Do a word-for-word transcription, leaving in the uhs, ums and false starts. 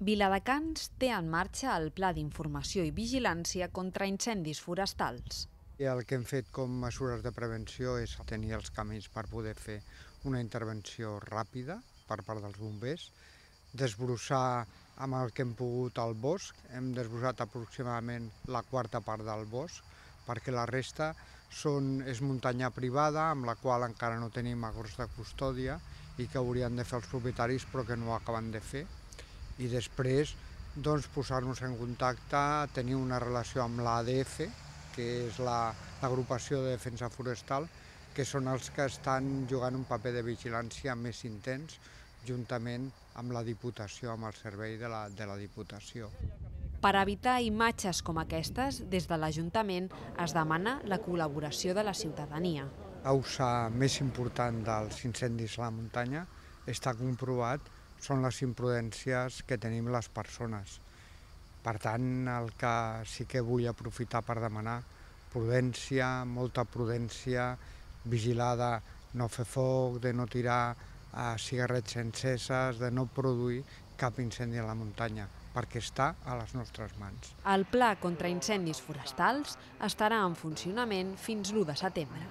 Viladecans té en marxa el Pla d'Informació i Vigilància contra incendis forestals. I el que hem fet com mesures de prevenció és tenir els camins per poder fer una intervenció ràpida per part dels bombers, desbrossar amb el que hem pogut el bosc, hem desbrossat aproximadament la quarta part del bosc, perquè la resta són, és muntanya privada amb la qual encara no tenim acords de custòdia i que haurien de fer els propietaris però que no ho acaben de fer. I després doncs, posar-nos en contacte, tenir una relació amb l'A D F, que és l'agrupació de defensa forestal, que són els que estan jugant un paper de vigilància més intens, juntament amb la Diputació, amb el servei de la, de la Diputació. Per evitar imatges com aquestes, des de l'Ajuntament es demana la col·laboració de la ciutadania. La causa més important dels incendis a la muntanya està comprovat, són les imprudències que tenim les persones. Per tant, el que sí que vull aprofitar per demanar prudència, molta prudència, vigilada, no fer foc, de no tirar a cigarrets enceses, de no produir cap incendi a la muntanya, perquè està a les nostres mans. El Pla contra incendis forestals estarà en funcionament fins l'u de setembre.